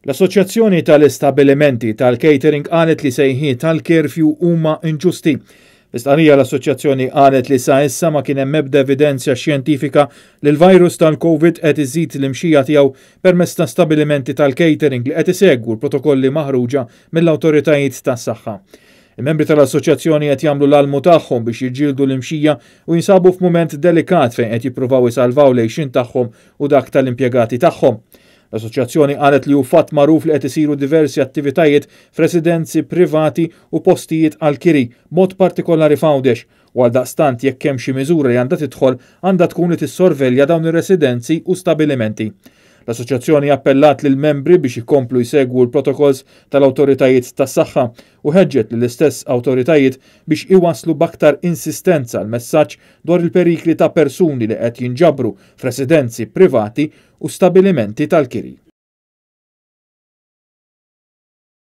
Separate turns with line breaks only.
L-Assoċjazzjoni tal-Istabbilimenti tal-Catering qalet li sejħiet tal-curfew huma inġusti. Fl-istqarrija l-assoċjazzjoni qalet li sa issa ma kien hemm ebda evidenza xjentifika li l-virus tal-Covid qed iżid l-imxija tiegħu permezz ta' stabilimenti tal-catering li qed isegwu l-protokolli maħruġa mill-awtoritajiet tas-saħħa. Il-membri tal-assoċjazzjoni qed jagħmlu l-almu tagħhom biex jiġġieldu l-imxija u jinsabu f'mument delikat fejn qed jippruvaw isalvaw l-għixien tagħhom u dak tal-impjegati tagħhom. L-assoċjazzjoni qalet li hu fatt magħruf li qed isiru diversi attivitajiet f'residenzi privati u postijiet għall-kiri, b'mod partikolari f'Għawdex, u għaldaqstant jekk hemm xi miżura li għandha tidħol għandha tkun li tissorvelja dawn ir-residenzi u stabilimenti. L-assoċjazzjoni appellat lill-membri biex ikomplu jsegwu l-protokolls tal-awtoritajiet tas-saħħa u ħeġġet lill-istess awtoritajiet biex iwasslu b'aktar insistenza l-messaġġ dwar il-perikli ta' persuni li qed jinġabru f'residenzi privati u stabilimenti tal-kiri.